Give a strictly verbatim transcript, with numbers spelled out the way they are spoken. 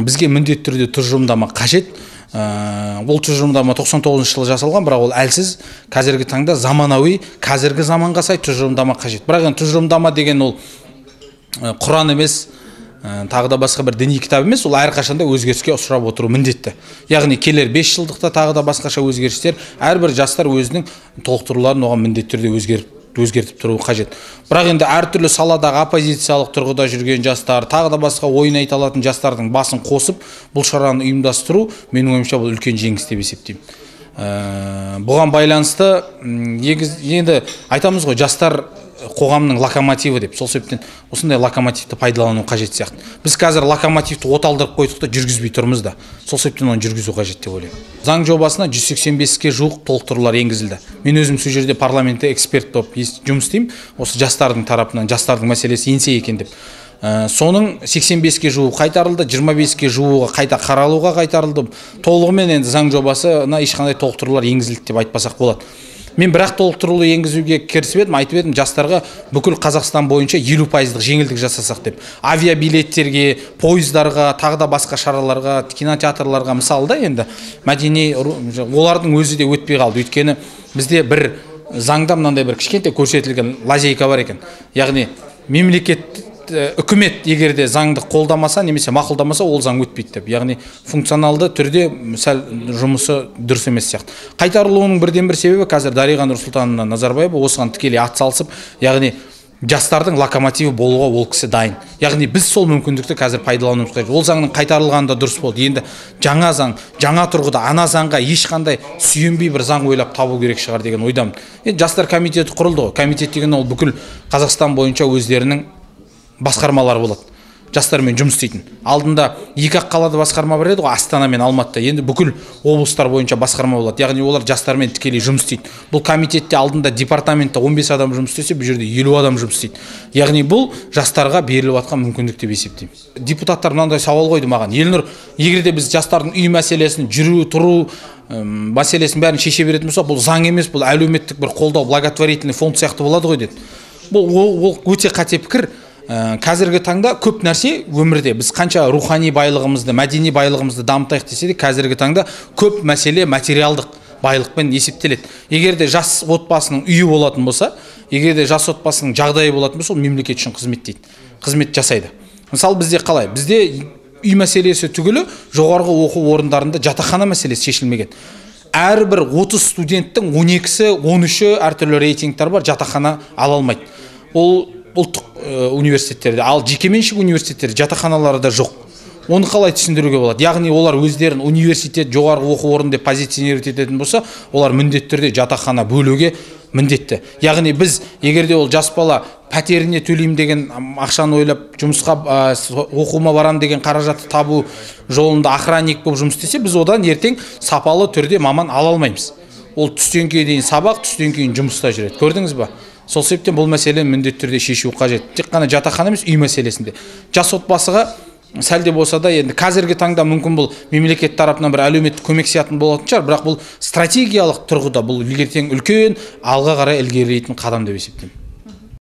бізге міндетті түрде тұжырымдама қажет. Ол тұжырымдама тоқсан тоғызыншы жылы жасалған, бірақ ол әлсіз. Қазіргі таңда заманауи, қазіргі заманға сай тұжырымдама қажет. Бірақ енді тұжырымдама деген ол Құран емес, тағы да басқа бір діни кітап емес, ол әрқашанда өзгеріске ұшырап отыру міндетті. Яғни келер бес жылдықта тағы да басқаша өзгерістер, әрбір жастар өзінің толықтыруларын оған міндетті түрде өзгеріп өзгертіп тұру қажет. Бірақ енді әртүрлі саладағы оппозициялық тұрғыда жүрген жастар, тағы да басқа ойын айта алатын жастардың басын қосып, бұл шараны ұйымдастыру, менің ойымша бұл үлкен жеңіс деп есептеймін. Бұған байланысты енді айтамыз ғой, жастар қоғамның локомотиві деп. Сол себептен осындай локомотивті пайдалану қажет сияқты. Біз қазір локомотивті оталдырып қойдық та жүргізбей тұрмыз да. Сол себептен оны жүргізу қажет деп ойлаймын. Заң жобасына жүз сексен беске жуық толықтырулар енгізілді. Мен өзім сол жерде парламентте эксперт болып жұмыс істеймін. Осы жастардың тарапынан, жастардың мәселесі еңсе екен деп. Соның сексен беске жуығы қайтарылды, жиырма беске жуығы қайта қаралуға қайтарылды. Толығымен енді заң жобасына ешқандай толықтырулар енгізілді деп айтпасақ болады. Мен бірақ толықтырулы енгізуге кірісіп едім, айтып едім, жастарға бүкіл Қазақстан бойынша елу пайыздық жеңілдік жасасақ деп. Авиабилеттерге, пойыздарға, тағы да басқа шараларға, кинотеатрларға мысалы да енді мәдени олардың өзі де өтпей қалды. Өйткені бізде бір заңда мынандай бір кішкентай көрсетілген лазейка бар екен. Яғни мемлекет үкімет егерде заңды қолдамаса немесе мақұлдамаса, ол заң өтпейді деп. Яғни функционалды түрде сәл жұмысы дұрыс емес сияқты. Қайтарылуының бірден бір себебі қазір Дариға Нұрсұлтановна Назарбаева осыған тікелей атсалысып, яғни жастардың локомотиві болуға ол кісі дайын. Яғни біз сол мүмкіндікті қазір пайдалануымыз қажет. Ол заңның қайтарылғаны да дұрыс болды. Енді жаңа заң, жаңа тұрғыда ана заңға ешқандай сүйенбей бір заң ойлап табу керек шығар деген ойдамын. Енді жастар комитеті құрылды ғой. Комитет деген ол бүкіл Қазақстан бойынша өздерінің басқармалар болады. Жастармен жұмыс істейтін. Алдында екі-ақ қалада басқарма бар еді ғой, Астана мен Алматыда. Енді бүкіл облыстар бойынша басқарма болады. Яғни олар жастармен тікелей жұмыс істейді. Бұл комитетте алдында департаментте он бес адам жұмыс істесе, бұл жерде елу адам жұмыс істейді. Яғни бұл жастарға беріліп жатқан мүмкіндік деп есептеймін. Депутаттар мынандай сауал қойды маған. Елнұр, егер де біз жастардың үй мәселесін, жүру, тұру мәселесін бәрін шеше беретін болса, бұл заң емес, бұл әлеуметтік бір қолдау, благотворительный фонд сияқты болады ғой деді. Бұл ол өте қате пікір. Қазіргі таңда көп нәрсе өмірде біз қанша рухани байлығымызды, мәдени байлығымызды дамытайық десе де, қазіргі таңда көп мәселе материалдық байлықпен есептеледі. Егер де жас отбасының үйі болатын болса, егер де жас отбасының жағдайы болатын болса, ол мемлекет үшін қызмет дейді. Қызмет жасайды. Мысалы бізде қалай? Бізде үй мәселесі түгілі жоғарғы оқу орындарында жатақхана мәселесі шешілмеген. Әрбір отыз студенттің он екісі, он үші әртүрлі рейтингтер бар, жатақхана ала алмайды. Ол ұлттық университеттерде, ал жекеменшік университеттерде жатақханалары да жоқ. Оны қалай түсіндіруге болады? Яғни олар өздерін университет, жоғарғы оқу орны деп позиционировать ететін болса, олар міндетті түрде жатақхана бөлуге міндетті. Яғни біз егерде ол жас бала пәтеріне төлеймін деген ақшаны ойлап, жұмысқа оқуыма барам деген қаражатты табу жолында охранник болып жұмыс істесе, біз одан ертең сапалы түрде маман ала алмаймыз. Ол түстен кейін сабақ, түстен кейін жұмыста жүреді. Көрдіңіз ба? Сол себептен бұл мәселені міндетті түрде шешу қажет. Тек қана жатақхана емес, үй мәселесінде. Жас отбасыға сәл де болса да, енді қазіргі таңда мүмкін бұл мемлекет тарапынан бір әлеуметтік көмек сиятын болатын шығар, бірақ бұл стратегиялық тұрғыда бұл ертең үлкен алға қарай ілгерілейтін қадам деп есептеймін.